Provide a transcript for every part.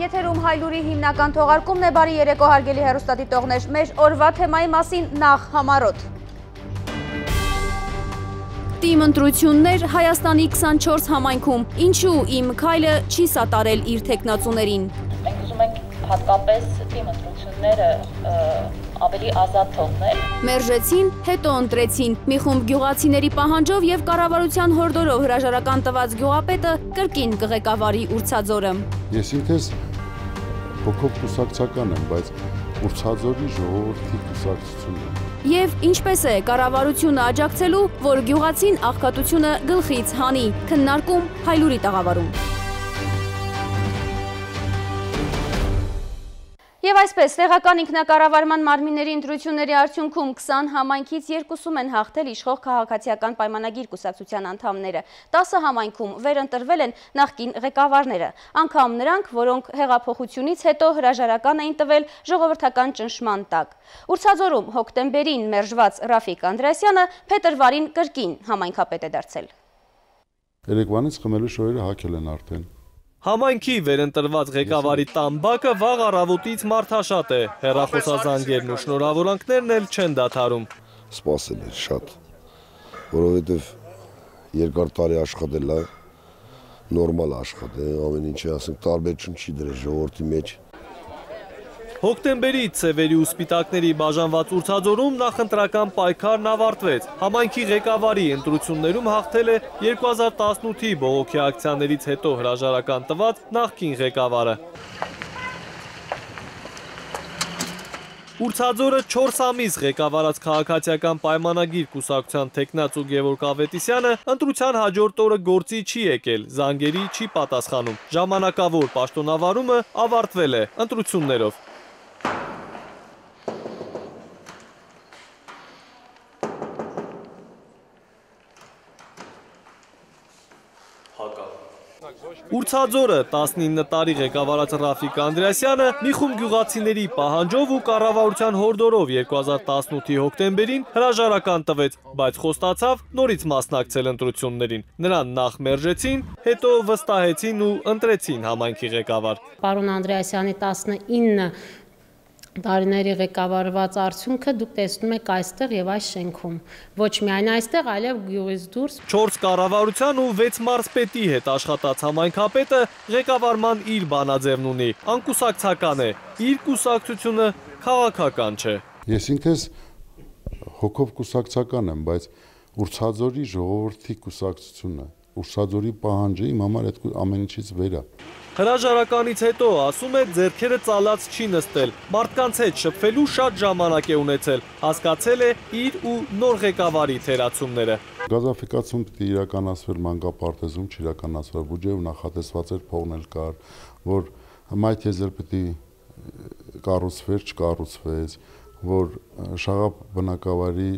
Եթերում Հայլուրի հիմնական թողարկումն է, բարի երեկո հարգելի հեռուստադիտողներ, մեր օրվա թեմայի մասին նախ համառոտ։ Տիմ ընտրություններ Հայաստանի 24 համայնքում, ինչու իմ քայլը չի սատարել իր թեկնածուներին։ Մենք ուզում ենք հատկապես տիմ ընտրությունները ավելի ազատ թողնել։ Մերժեցին, հետո ընտրեցին։ Մի խումբ գյուղացիների պահանջով եւ կառավարության հորդորով հրաժարական տված գյուղապետը կրկին կղեկավարի Ուրցաձորը։ Ես ինքս փոքր կուսակցական եմ, բայց Ուրցաձորի ժողովրդի կուսակցությունն եմ։ Եվ ինչպես է կառավարությունը աջակցելու, որ գյուղացին աղքատությունը գլխից հանի, քննարկում Հայլուրի տաղավարում։ Եվ այսպես, տեղական ինքնակառավարման մարմինների ընտրությունների արդյունքում 20 համայնքից 2-ում են հաղթել իշխող քաղաքացիական պայմանագիր կուսակցության անդամները, 10 համայնքում վերընտրվել են նախկին ղեկավարները, անգամ նրանք, որոնք հեղափոխությունից հետո հրաժարական էին տվել ժողովրդական ճնշման տակ։ Ուրցաձորում հոկտեմբերին մերժված Ռաֆիկ Անդրեասյանը փետրվարին կրկին համայնքապետ է դարձել։ Երեկվանից խմելու շոյերը հագել են արդեն։ Համայնքի վերընտրված ղեկավարի տամբակը վաղ առավոտից մարդաշատ է, հեռախոսազանգերն ու շնորհավորանքներն էլ չեն դադարում։ Սպասել էր շատ, որովհետև երկար տարի աշխատել է, նորմալ աշխատել, ամեն ինչը ասենք տարբերություն չի դրել ժողովրդի մեջ։ Հոկտեմբերի ցևերի ու սպիտակների բաժանված Ուրցաձորում նախընտրական պայքարն ավարտվեց։ Համայնքի ղեկավարի ընտրություններում հաղթել է 2018-ի բողոքի ակցիաներից հետո հրաժարական տված նախկին ղեկավարը։ Ուրցաձորը 4 ամիս ղեկավարած քաղաքացիական պայմանագիր կուսակցության թեկնածու Գևորգ Ավետիսյանը ընտրության հաջորդ օրը գործի չի եկել, զանգերի չի պատասխանում։ Ժամանակավոր պաշտոնավարումը ավարտվել է ընտրություններով։ Ուրցաձորը 19 տարի ղեկավարած Ռաֆիկ Անդրեասյանը մի խումբ գյուղացիների պահանջով ու կառավարության հորդորով 2018-ի հոկտեմբերին հրաժարական տվեց, բայց խոստացավ նորից մասնակցել ընտրություններին։ Նրան նախ մերժեցին, հետո վստահեցին ու ընտրեցին համայնքի ղեկավար։ Պարոն Անդրեասյանի 19 տարիների ղեկավարված արդյունքը դուք տեսնում եք այստեղ եւ այս շենքում։ Ոչ միայն այստեղ, այլև գյուղից դուրս։ 4 կառավարության ու 6 մարզպետի հետ աշխատած համայնքապետը ղեկավարման իր բանաձևն ունի, անկուսակցական է, իր կուսակցությունը քաղաքական չէ։ Ես ինքս հոգով կուսակցական եմ, բայց Ուրցաձորի ժողովրդի կուսակցությունը, Ուրցաձորի պահանջը իմ համար այդ ամեն ինչից վեր է։ Հրաժարականից հետո ասում է ձեռքերը ծալած չի նստել, մարդկանց հետ շփվելու շատ ժամանակ է ունեցել, հասկացել է իր ու նոր ղեկավարի թերացումները։ Գազաֆիկացում պիտի իրականացվեր մանկապարտեզում, չիրականացվեր, բյուջեով նախատեսված էր փողնել կար, որ մայթեզեր պիտի կառուցվեր, չկառուցվեց, որ Շաղապ բնակավարի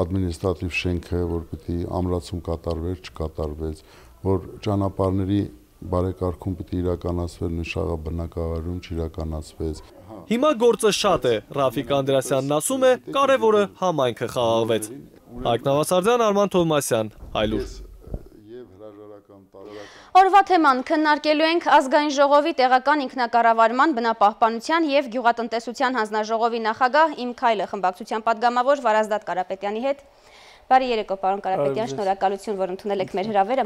ադմինիստրատիվ շենքը, որ պիտի ամրացում կատարվեր, չկատարվեց, որ ճանապարհների բարեկարգում պիտի իրականացվեր նույն Շաղապ բնակավարում, չիրականացվեց։ Հիմա գործը շատ է, Ռաֆիկ Անդրեասյանն ասում է, կարևորը համայնքը խաղաղվեց։ Հայկ Նավասարդյան, Արման Թովմասյան, Հայլուր։ Օրվա թեման քննարկելու ենք ազգային ժողովի տեղական ինքնակառավարման, բնապահպանության եւ գյուղատնտեսության հանձնաժողովի նախագահ Իմ քայլը խմբակցության պատգամավոր Վարազդատ Կարապետյանի հետ։ Բարի երեկո, պարոն Կարապետյան, շնորհակալություն, որ ընդունել եք մեր հրավերը։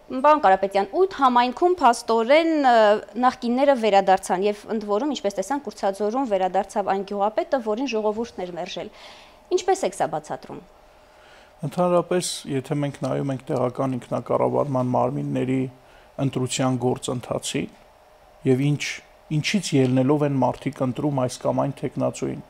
Պարոն Կարապետյան, 8 համայնքում փաստորեն նախկինները վերադարձան եւ ընդ որում, ինչպես տեսանք, Ուրցաձորում վերադարձավ այն գյուղապետը, որին ժողովուրդն էր մերժել։ Ինչպես եք սա բացատրում։ Ընդհանրապես, եթե մենք նայում ենք տեղական ինքնակառավարման մարմինների ընտրության գործընթացին եւ ինչից ելնելով են մարդիկ ընտրում այս կամ այն թեկնածուին,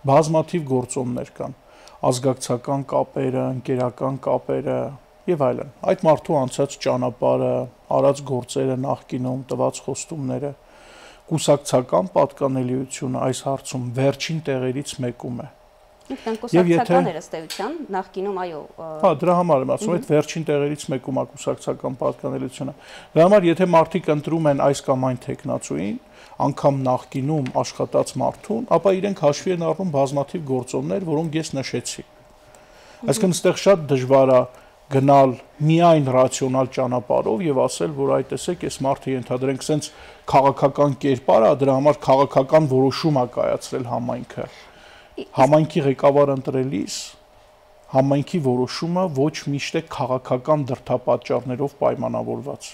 բազմաթիվ գործոններ կան, ազգակցական կապերը, ընկերական կապերը եւ այլն։ Այդ մարդու անցած ճանապարհը, արած գործերը նախկինում, տված խոստումները, կուսակցական պատկանելիությունը այս հարցում վերջին տեղերից մեկում է։ Կուսակցական էր ըստ էության, նախկինում այո։ Հա, դրա համար եմ ասում, այդ վերջին տեղերից մեկում է կուսակցական պատկանելիությունը։ Դրա համար եթե մարդիկ ընտրում են այս կամ այն թեկնածուին, անգամ նախկինում աշխատած մարդուն, ապա իրենք հաշվի են առնում բազմաթիվ գործոններ, որոնք ես նշեցի։ Այսինքն այստեղ շատ դժվար է գնալ միայն ռացիոնալ ճանապարհով եւ ասել, որ այ տեսեք, այս մարդը ենթադրենք սենց քաղաքական կերպար է, դրա համար քաղաքական որոշում է կայացրել համայնքը։ Համայնքի ղեկավար ընտրելիս համայնքի որոշումը ոչ միշտ է քաղաքական դրդապատճառներով պայմանավորված։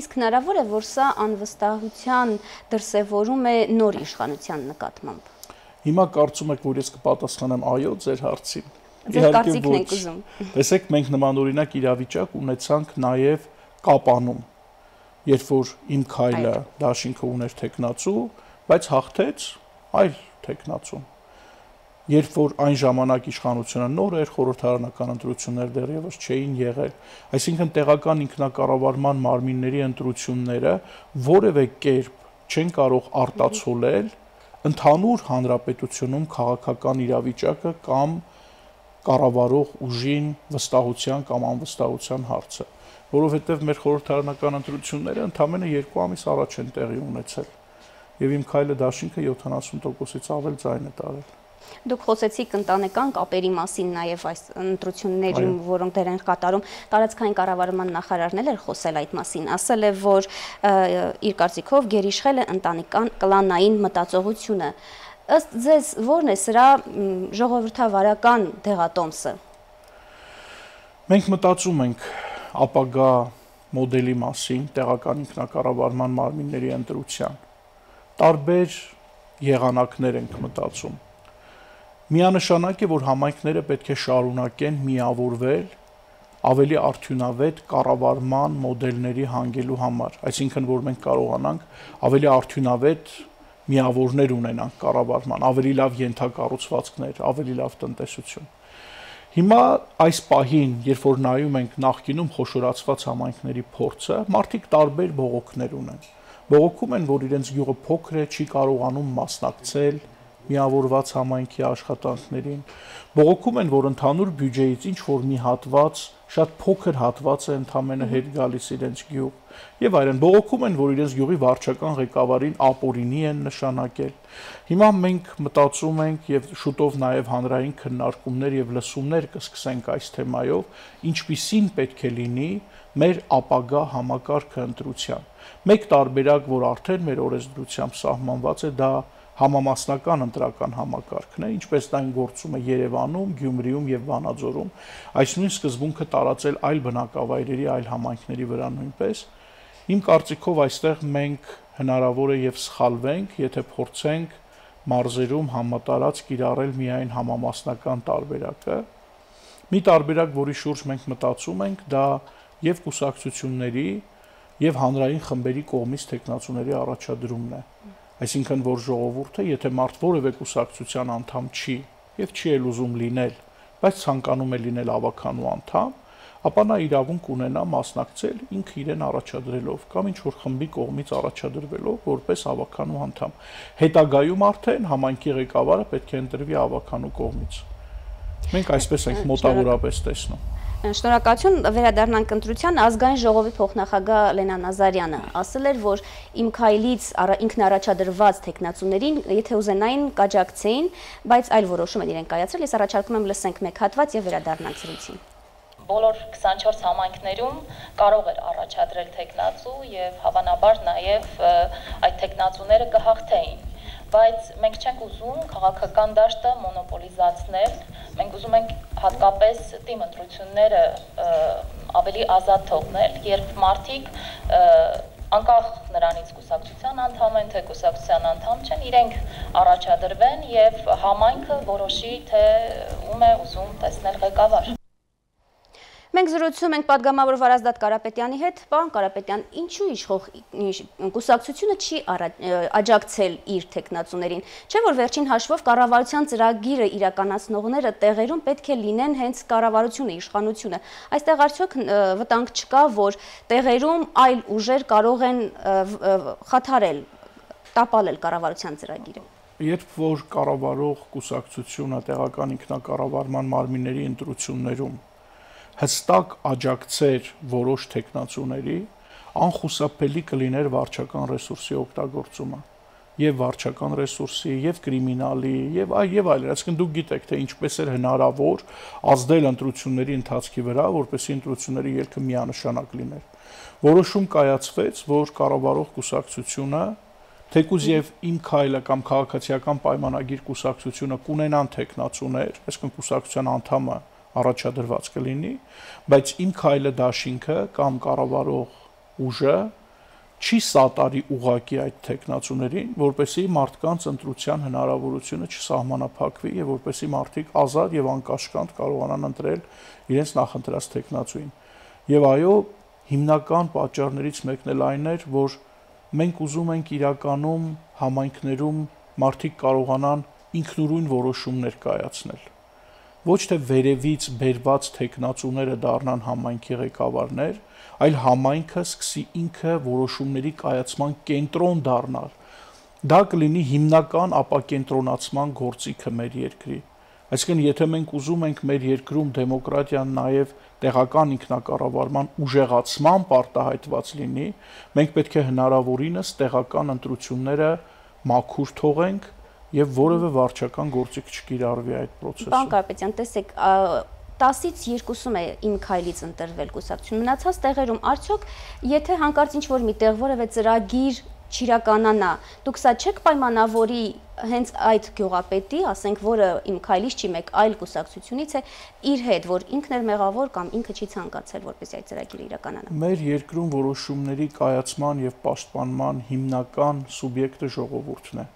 Իսկ հնարավոր է, որ սա անվստահության դրսևորում է նոր իշխանության նկատմամբ։ Հիմա կարծում եք, որ ես կպատասխանեմ այո ձեր հարցին։ Ձեր կարծիքն եք ուզում։ Տեսեք, մենք նմանօրինակ իրավիճակ ունեցանք նաև Կապանում, երբ որ Իմ քայլը դաշինքը ուներ տեխնացու, բայց հաղթեց այլ տեխնացու։ Երբ որ այն ժամանակ իշխանությունը նոր էր, խորհրդարանական ընտրություններ դեռևս չէին եղել, այսինքն տեղական ինքնակառավարման մարմինների ընտրությունները որևէ կերպ չեն կարող արտացոլել ընդհանուր հանրապետությունում քաղաքական իրավիճակը կամ կառավարող ուժին վստահության կամ անվստահության հարցը, որովհետև մեր խորհրդարանական ընտրությունները ընդամենը 2 ամիս առաջ են տեղի ունեցել, եւ Իմ քայլը դաշինքը 70%-ից ավել ձայն է տարել։ Դուք խոսեցիք ընտանեկան կապերի մասին նաև այս ընտրություններում, որոնք դեր են կատարում, տարածքային կառավարման նախարարն էլ էր խոսել այդ մասին, ասել է, որ իր կարծիքով գերիշխել է ընտանեկան կլանային մտածողությունը։ Ըստ ձեզ ո՞րն է սրա ժողովրդավարական դեղատոմսը։ Մենք մտածում ենք ապագա մոդելի մասին, տեղական ինքնակառավարման մարմինների ընտրության։ Տարբեր եղանակներ ենք մտածում։ Միանշանակ է, որ համայնքները պետք է շարունակեն միավորվել ավելի արդյունավետ կառավարման մոդելների հանգելու համար, այսինքն որ մենք կարողանանք ավելի արդյունավետ միավորներ ունենանք կառավարման, ավելի լավ ենթակառուցվածքներ, ավելի լավ տնտեսություն։ Հիմա այս պահին, երբ որ նայում ենք նախկինում խոշորացված համայնքների փորձը, մարդիկ տարբեր բողոքներ ունեն։ Բողոքում են, որ իրենց գյուղը փոքր է, չի կարողանում մասնակցել միավորված համայնքի աշխատանքներին, բողոքում են, որ ընդհանուր բյուջեից ինչ որ մի հատված, շատ փոքր հատված է ընդամենը հետ գալիս իրենց գյուղ, եւ այլն, բողոքում են, որ իրենց գյուղի վարչական ղեկավարին ապօրինի են նշանակել։ Հիմա մենք մտածում ենք եւ շուտով նաեւ հանրային քննարկումներ եւ լսումներ կսկսենք այս թեմայով, ինչպիսին պետք է լինի մեր ապագա համակարգը ընտրության։ Մեկ տարբերակ, որ արդեն մեր օրենսդրությամբ սահմանված է, դա համամասնական ընտրական համակարգն է, ինչպես դա գործում է Երևանում, Գյումրիում եւ Վանաձորում, այս նույն սկզբունքը տարածել այլ բնակավայրերի, այլ համայնքների վրա նույնպես։ Իմ կարծիքով այստեղ մենք հնարավոր է եւ սխալվենք, եթե փորձենք մարզերում համատարած կիրառել միայն համամասնական տարբերակը։ Մի տարբերակ, որի շուրջ մենք մտածում ենք, դա եւ կուսակցությունների եւ հանրային խմբերի կողմից տեխնացուների առաջադրումն է։ Այսինքն, որ ժողովուրդը, եթե մարդ որևէ կուսակցության անդամ չի եւ չի էլ ուզում լինել, բայց ցանկանում է լինել ավականու անդամ, ապա նա իրավունք ունենա մասնակցել ինքը իրեն առաջադրելով կամ ինչ որ խմբի կողմից առաջադրվելով որպես ավականու անդամ։ Հետագայում արդեն համայնքի ղեկավարը պետք է ընտրվի ավականու կողմից։ Մենք այսպես ենք մոտավորապես տեսնում։ Շնորհակալություն, վերադառնանք ընտրության, ազգային ժողովի փոխնախագահ Լենա Նազարյանը ասել էր, որ Իմ քայլից ինքնաառաջադրված տեխնացուներին, եթե ուզենային կաջակցեին, բայց այլ որոշում են իրենք կայացրել, ես առաջարկում եմ լսենք մեկ հատված եւ վերադառնանք զրույցին։ Բոլոր 24 համայնքներում կարող էր առաջադրել տեխնացու եւ հավանաբար նաեւ այդ տեխնացուները կհաղթեին, բայց մենք չենք ուզում քաղաքական դաշտը մոնոպոլիզացնել, մենք ուզում ենք հատկապես թիմ ընտրությունները ավելի ազատ թողնել, երբ մարդիկ անկախ նրանից կուսակցության անդամ են, թե կուսակցության անդամ չեն, իրենք առաջադրվեն եւ համայնքը որոշի, թե ում է ուզում տեսնել ղեկավար։ Մենք զրուցում ենք պատգամավոր Վարազդատ Կարապետյանի հետ, պարոն Կարապետյան, ինչու իշխող կուսակցությունը չի աջակցել իր տեխնացուներին, չէ՞ որ վերջին հաշվով կառավարության ծրագիրը իրականացնողները տեղերում պետք է լինեն հենց կառավարությունը, իշխանությունը։ Այստեղ արդյոք վտանգ չկա, որ տեղերում այլ ուժեր կարող են խաթարել, տապալել կառավարության ծրագիրը։ Երբ որ կառավարող կուսակցությունը տեղական ինքնակառավարման մարմինների ընտրություններում հստակ աջակցեր որոշ տեխնացուների, անխուսափելի կլիներ վարչական ռեսուրսի օգտագործումը։ եւ վարչական ռեսուրսի, եւ կրիմինալի, եւ այլն, այսինքն դուք գիտեք, թե ինչպես էր հնարավոր ազդել ընտրությունների ընթացքի վրա, որպեսզի ընտրությունների ելքը միանշանակ լիներ։ Որոշում կայացվեց, որ կառավարող կուսակցությունը, թեկուզ եւ Իմ քայլը կամ քաղաքացիական պայմանագիր կուսակցությունը կունենան տեխնացուներ, այսինքն կուսակցության անդամը առաջադրված կլինի, բայց Իմ քայլը դաշինքը կամ կառավարող ուժը չի սատարի ուղակի այդ տեխնացուներին, որպեսզի մարդկանց ընտրության հնարավորությունը չսահմանափակվի եւ որպեսզի մարդիկ ազատ եւ անկաշկանդ կարողանան ընտրել իրենց նախընտրած տեխնացուին։ Եվ այո, հիմնական պատճառներից մեկն էլ այն էր, որ մենք ուզում ենք իրականում համայնքներում մարդիկ կարողանան ինքնուրույն որոշումներ կայացնել։ Ոչ թե վերևից բերված տեխնացուները դառնան համայնքի ղեկավարներ, այլ համայնքը սկսի ինքը որոշումների կայացման կենտրոն դառնալ։ Դա կլինի հիմնական ապակենտրոնացման գործիքը մեր երկրի։ Այսինքն, եթե մենք ուզում ենք մեր երկրում դեմոկրատիան նաև տեղական ինքնակառավարման ուժեղացման արտահայտված լինի, մենք պետք է հնարավորինս տեղական ընտրությունները մաքուր թողենք եւ որևէ վարչական գործիք չկիրառվի այդ process-ում։ Պարոն Կարապետյան, տեսեք, 10-ից 2-ում է Իմ քայլից ընտրվել կուսակցություն։ Մնացած տեղերում արդյոք եթե հանկարծ ինչ-որ միտեղ որևէ ծրագիր չիրականանա, դուք սա չեք պայմանավորի հենց այդ գյուղապետի, ասենք, որը Իմ քայլից չի, մեկ այլ կուսակցությունից է, իր հետ, որ ինքն էր մեղավոր կամ ինքը չի ցանկացել, որպեսզի այդ ծրագիրը իրականանա։ Մեր երկրում որոշումների կայացման եւ պաշտպանման հիմնական սուբյեկտը ժողովուրդն է։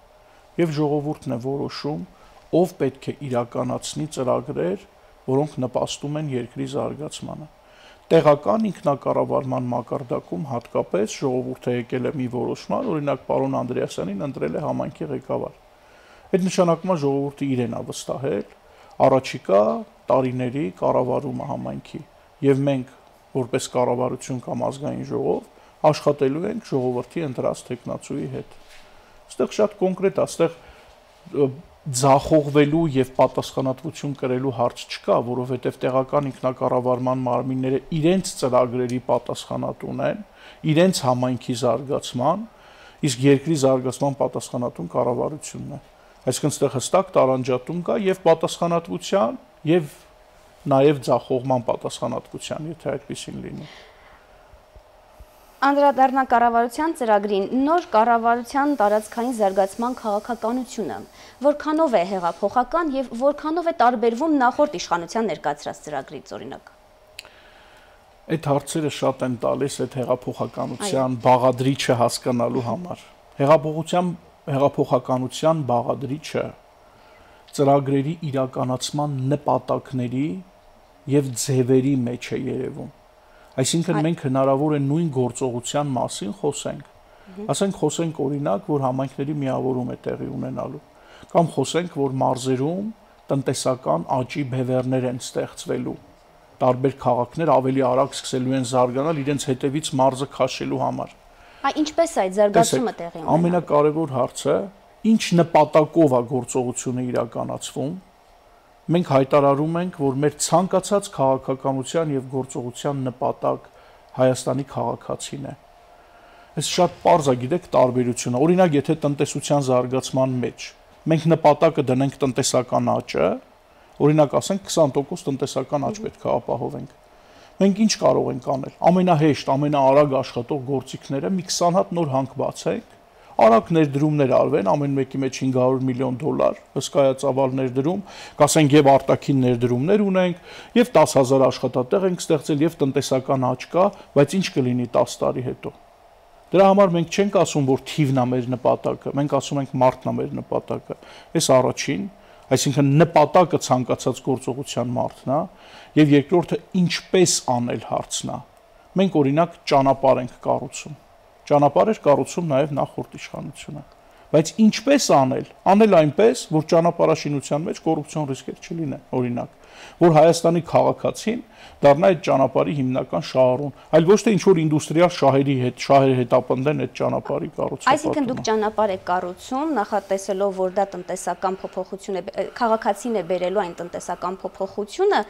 Եվ ժողովուրդն է որոշում, ով պետք է իրականացնի ծրագրեր, որոնք նպաստում են երկրի զարգացմանը։ Տեղական ինքնակառավարման մակարդակում հատկապես ժողովուրդը եկել է մի որոշման, օրինակ պարոն Անդրեասյանին ընտրել է համայնքի ղեկավար։ Այդ նշանակում է ժողովուրդը իրեն է վստահել առաջիկա տարիների կառավարումը համայնքի, եւ մենք որպես կառավարություն կամ ազգային ժողով աշխատելու ենք ժողովրդի ընտրած տեխնացուի հետ։ Այստեղ շատ կոնկրետ է, այստեղ ձախողվելու եւ պատասխանատվություն կրելու հարց չկա, որովհետեւ տեղական ինքնակառավարման մարմինները իրենց ծրագրերի պատասխանատուն են, իրենց համայնքի զարգացման, իսկ երկրի զարգացման պատասխանատուն կառավարությունն է։ Այսինքն այստեղ հստակ տարանջատում կա եւ պատասխանատվության եւ նաեւ ձախողման պատասխանատվության, եթե այդպեսին լինի։ Անդրադառնանք կառավարության ծրագրին, նոր կառավարության տարածքային զարգացման քաղաքականությունը, որքանով է հեղափոխական եւ որքանով է տարբերվում նախորդ իշխանության ներկայացրած ծրագրից, օրինակ։ Այդ հարցերը շատ են տալիս այդ հեղափոխականության բաղադրիչը հասկանալու համար։ Հեղափոխականության բաղադրիչը ծրագրերի իրականացման նպատակների եւ ձևերի մեջ է երևում։ Այսինքն մենք հնարավոր է նույն գործողության մասին խոսենք։ Ասենք խոսենք օրինակ, որ համայնքների միավորում է տեղի ունենալու, կամ խոսենք, որ մարզերում տնտեսական աճի բևեռներ են ստեղծվելու, տարբեր քաղաքներ ավելի արագ սկսելու են զարգանալ իրենց հետևից մարզը քաշելու համար։ Ինչպես է այդ զարգացումը տեղի ունենալու։ Ամենակարևոր հարցը, ինչ նպատակով է գործողությունը իրականացվում։ Մենք հայտարարում ենք, որ մեր ցանկացած քաղաքականության եւ գործողության նպատակ Հայաստանի քաղաքացին է։ Այս շատ պարզ է, գիտեք, տարբերությունը։ Օրինակ, եթե տնտեսության զարգացման մեջ մենք նպատակը դնենք տնտեսական աճը, օրինակ ասենք 20% տնտեսական աճ պետք է ապահովենք։ Մենք ինչ կարող ենք անել։ Ամենահեշտ, ամենաարագ աշխատող գործիքները մի 20 հատ նոր հանք բացենք, արագ ներդրումներ արվեն, ամեն մեկի մեջ $500 միլիոն, հսկայածավալ ներդրում, կասենք եւ արտաքին ներդրումներ ունենք, եւ 10,000 աշխատատեղ ենք ստեղծել եւ տնտեսական աճ կա, բայց ինչ կլինի 10 տարի հետո։ Դրա համար մենք չենք ասում, որ թիվն է մեր նպատակը, մենք ասում ենք մարդն է մեր նպատակը։ Այս առաջին, այսինքն նպատակը ցանկացած գործողության մարդն է, եւ երկրորդը ինչպես անել հարցն է։ Մենք օրինակ ճանապարհ ենք կառուցում։ Ճանապարհ էր կառուցում նաև նախորդ իշխանությունը, բայց ինչպես անել այնպես, որ ճանապարհաշինության մեջ կոռուպցիոն ռիսկեր չլինեն, օրինակ, որ Հայաստանի քաղաքացին դառնա այդ ճանապարհի հիմնական շահառուն, այլ ոչ թե ինչ-որ ինդուստրիալ շահեր հետապնդեն այդ ճանապարհի կառուցումը։ Այսինքն դուք ճանապարհ եք կառուցում, նախատեսելով, որ դա տնտեսական փոփոխություն է, քաղաքացին է բերելու այն տնտեսական փոփոխությունը,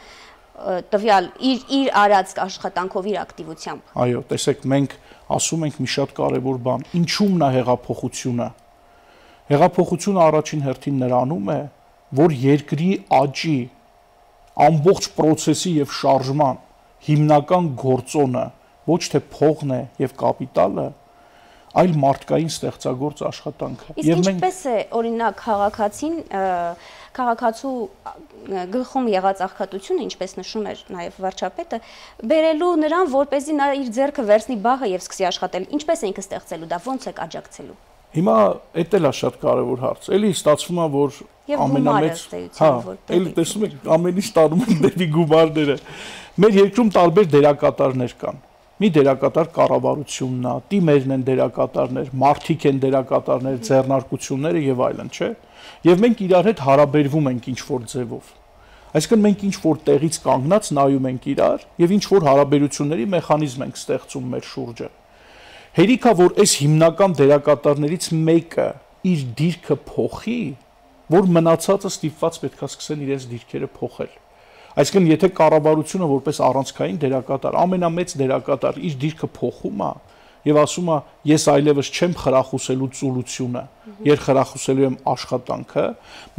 տվյալ իր արած աշխատանքով, իր ակտիվությամբ։ Այո, տեսեք, մենք ասում ենք մի շատ կարևոր բան, ինչու՞մն է հեղափոխությունը։ Հեղափոխությունը առաջին հերթին նրանում է, որ երկրի աճի ամբողջ process-ի եւ շարժման հիմնական գործոնը ոչ թե փողն է եւ կապիտալը, այլ մարդկային ստեղծագործ աշխատանքը։ Իսկ ինչպես է օրինակ քաղաքացու գլխում եղած աղքատությունը, ինչպես նշում էր նաև վարչապետը, բերելու նրան, որպեսզի նա իր ձեռքը վերցնի բախը եւ սկսի աշխատել։ Ինչպես է ինքը ստեղծելու դա, ոնց է աջակցելու։ Հիմա էդ էլ է շատ կարևոր հարց։ Էլի ստացվում է, որ ամենամեծ, էլի տեսնում եք, ամեն ինչ տանում են դեպի գումարները։ Մեր երկրում տարբեր դերակատարներ կան։ Մի դերակատար կառավարությունն է, տիմերն են դերակատարներ, մարդիկ են դերակատարներ, ձեռնարկությունները եւ այլն, չէ՞։ Եվ մենք իրար հետ հարաբերվում ենք ինչ-որ ձևով։ Այսինքն մենք ինչ-որ տեղից կանգնած նայում ենք իրար եւ ինչ-որ հարաբերությունների մեխանիզմ ենք ստեղծում մեր շուրջը։ Հերիքա, որ այս հիմնական դերակատարներից մեկը իր դիրքը փոխի, որ մնացածը ստիպված պետքա սկսեն իրենց դիրքերը փոխել։ Այսինքն, եթե կառավարությունը որպես առանցքային դերակատար, ամենամեծ դերակատար իր դիրքը փոխում է եւ ասում է, ես այլևս չեմ խրախուսելու ծուլությունը, ես խրախուսելու եմ աշխատանքը,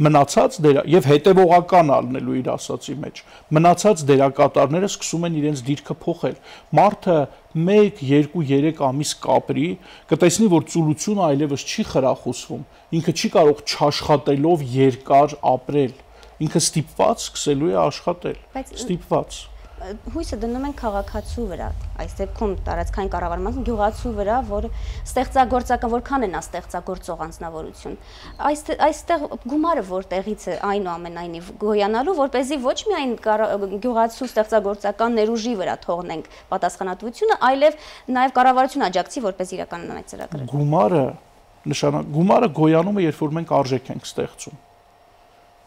մնացած եւ հետեւողական ալնելու իր ասացի մեջ, մնացած դերակատարները սկսում են իրենց դիրքը փոխել։ Մարդը 1, 2, 3 ամիս կապրի, կտեսնի, որ ծուլությունը այլևս չի խրախուսվում, ինքը չի կարող չաշխատելով երկար ապրել, ինքը ստիպված սկսելու է աշխատել, ստիպված։ Հույսը դնում են քաղաքացու վրա, այս դեպքում տարածքային կառավարման գյուղացու վրա, որ ստեղծագործական, որքան է նա ստեղծագործող անձնավորություն։ Այստեղ գումարը որտեղից է այնուամենայնիվ գոյանալու, որպեսզի ոչ միայն գյուղացու ստեղծագործական ներուժի վրա թողնենք պատասխանատվությունը, այլև նաև կառավարությունը աջակցի, որպես իրականանա այդ ծրագրերը։ Գումարը գոյանում է, երբ որ մենք արժեք ենք ստեղծում։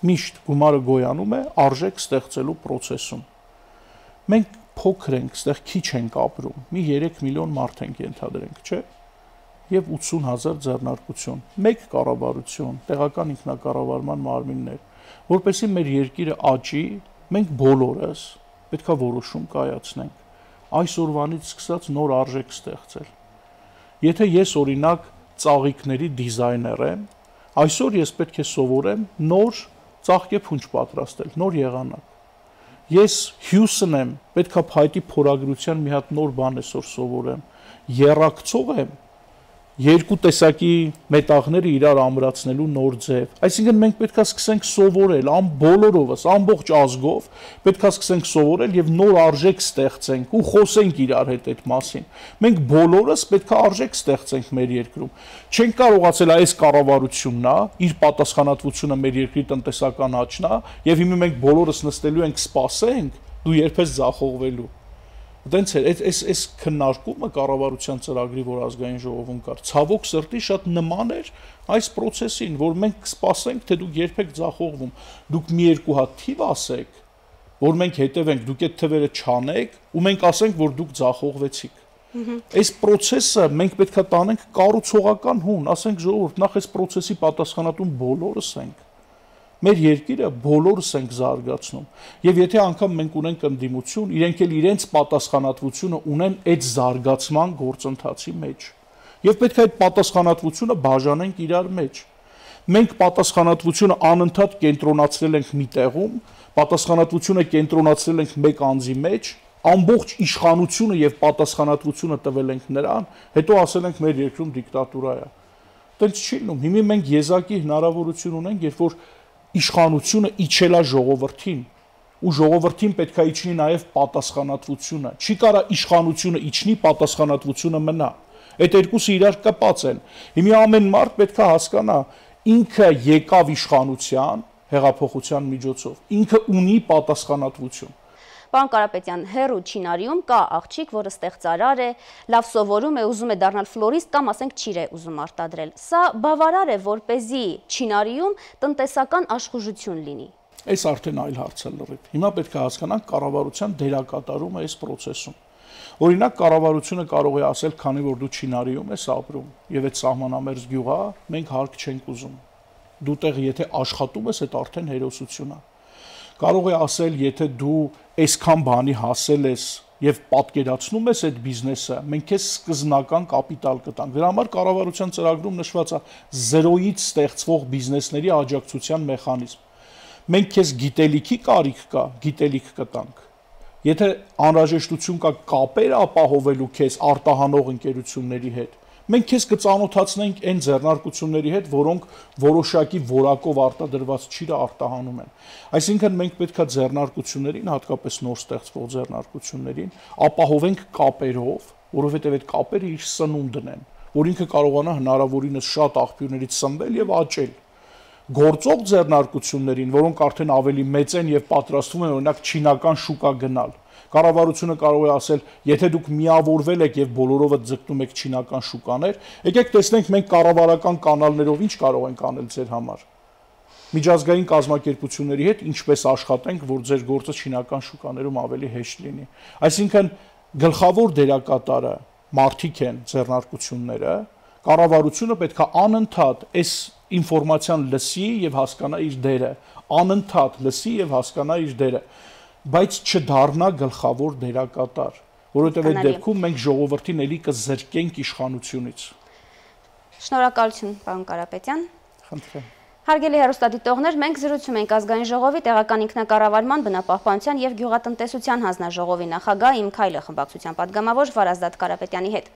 Միշտ գումարը գոյանում է արժեք ստեղծելու process-ում։ Մենք փոքր ենք, այստեղ քիչ ենք ապրում, մի 3 միլիոն մարդ ենք ենթադրենք, չէ՞։ Եվ 80,000 ձեռնարկություն, մեկ կառավարություն, տեղական ինքնակառավարման մարմիններ, որպեսզի մեր երկիրը աճի, մենք բոլորս պետքա որոշում կայացնենք։ Այսօրվանից սկսած նոր արժեք ստեղծել։ Եթե ես օրինակ ծաղիկների դիզայներ եմ, այսօր ես պետք է սովորեմ նոր ծաղկեփունջ պատրաստել, նոր եղանակ։ Ես Հյուսն եմ, պետքա փայտի փորագրության մի հատ նոր բան այսօր սովորեմ։ Եռակցող եմ, երկու տեսակի մետաղները իրար ամրացնելու նոր ձև։ Այսինքն մենք պետքա սկսենք սովորել, բոլորովս, ամբողջ ազգով, պետքա սկսենք սովորել եւ նոր արժեք ստեղծենք ու խոսենք իրար հետ այդ մասին։ Մենք բոլորս պետքա արժեք ստեղծենք մեր երկրում։ Չենք կարողացել այս կառավարությունն է, իր պատասխանատվությունը մեր երկրի տնտեսական աճն է, եւ հիմա մենք բոլորս նստելու ենք սպասենք, դու երբ ես ձախողվելու։ Դենց էր, այս քննարկումը կառավարության ծրագրի, որ ազգային ժողովում կար, ցավոք սրտի շատ նման էր այս process-ին, որ մենք սպասենք, թե դուք երբեք ձախողվում, դուք մի երկու հատ թիվ ասեք, որ մենք հետևենք, դուք այդ թվերը չանեք, ու մենք ասենք, որ դուք ձախողվեցիք։ Այս process-ը մենք պետքա տանենք կառուցողական հուն, ասենք ժողովուրդ, նախ այս process-ի պատասխանատուն բոլորս ենք։ Մեր երկիրը բոլորս ենք զարգացնում եւ եթե անգամ մենք ունենք ընդդիմություն, իրենք էլ իրենց պատասխանատվությունը ունեն այդ զարգացման գործընթացի մեջ։ Եվ պետք է այդ պատասխանատվությունը բաժանենք իրար մեջ։ Մենք պատասխանատվությունը անընդհատ կենտրոնացրել ենք մի տեղում, պատասխանատվությունը կենտրոնացրել ենք մեկ անձի մեջ, ամբողջ իշխանությունը եւ պատասխանատվությունը տվել ենք նրան, հետո ասել ենք մեր երկրում դիկտատուրա է։ Տենց չի լինում։ Հիմա մենք եզակի հնարավորություն ունենք, երբ որ իշխանությունը իջելա ժողովրդին ու ժողովրդին պետքա իջնի նաև պատասխանատվությունը։ Չի կարա իշխանությունը իջնի, պատասխանատվությունը մնա։ Այդ երկուսը իրար կապած են։ Հիմա ամեն մարդ պետքա հասկանա, ինքը եկավ իշխանության հեղափոխության միջոցով, ինքը ունի պատասխանատվություն։ Պարոն Կարապետյան, հերու Չինարիում կա աղջիկ, որը ստեղծարար է, լավ սովորում է, ուզում է դառնալ ֆլորիստ կամ ասենք ճիր է ուզում արտադրել։ Սա բավարար է, որպեսզի Չինարիում տնտեսական աշխուժություն լինի։ Այս արդեն այլ հարց է լրիվ։ Հիմա պետք է հասկանանք կառավարության դերակատարումը այս process-ում։ Օրինակ կառավարությունը կարող է ասել, քանի որ դու Չինարիում ես ապրում եւ այդ սահմանամերձ գյուղ է, մենք հարկ չենք ուզում։ Դու տեղ եթե աշխատում ես, այդ արդեն հերոսություն է։ Կարող է ասել, եթե դու այսքան բանի հասել ես, եւ պատկերացնում ես այդ բիզնեսը, մենք քեզ սկզբնական կապիտալ կտանք։ Դրա համար կառավարության ծրագրում նշված է 0-ից ստեղծվող բիզնեսների աջակցության մեխանիզմ։ Մենք քեզ գիտելիքի կարիք կա, գիտելիք կտանք։ Եթե անհրաժեշտություն կա կապեր ապահովելու քեզ արտահանող ընկերությունների հետ, մենք քեզ կծանոթացնենք այն ձեռնարկությունների հետ, որոնք որոշակի որակով արտադրված ճիրը արտահանում են։ Այսինքն մենք պետքա ձեռնարկություններին, հատկապես նոր ստեղծվող ձեռնարկություններին, ապահովենք կապերով, որովհետև այդ կապերը իր սնունդն են, որ ինքը կարողանա հնարավորինս շատ աղբյուրներից սնվել եւ աճել։ Գործող ձեռնարկություններին, որոնք արդեն ավելի մեծ են եւ պատրաստվում են օրինակ չինական շուկա գնալ, կառավարությունը կարող է ասել, եթե դուք միավորվել եք եւ բոլորովը ձգտում եք չինական շուկաներ, եկեք տեսնենք մենք կառավարական կանալներով ինչ կարող ենք անել ձեր համար։ Միջազգային կազմակերպությունների հետ ինչպես աշխատենք, որ ձեր գործը չինական շուկաներում ավելի հեշտ լինի։ Այսինքն գլխավոր դերակատարը մարդիկ են ձեռնարկությունները, կառավարությունը պետք է անընդհատ այս ինֆորմացիան լսի եւ հասկանա իր դերը, անընդհատ լսի եւ հասկանա իր դերը, բայց չդառնա գլխավոր դերակատար, որովհետև այդ դեպքում մենք ժողովրդին էլի կզրկենք իշխանությունից։ Շնորհակալություն, պարոն Կարապետյան։ Խնդրեմ։ Հարգելի հեռուստադիտողներ, մենք զրուցում ենք Ազգային ժողովի տեղական ինքնակառավարման, բնապահպանության եւ գյուղատնտեսության հանձնաժողովի նախագահ «Իմ քայլը» խմբակցության պատգամավոր Վարազդատ Կարապետյանի հետ։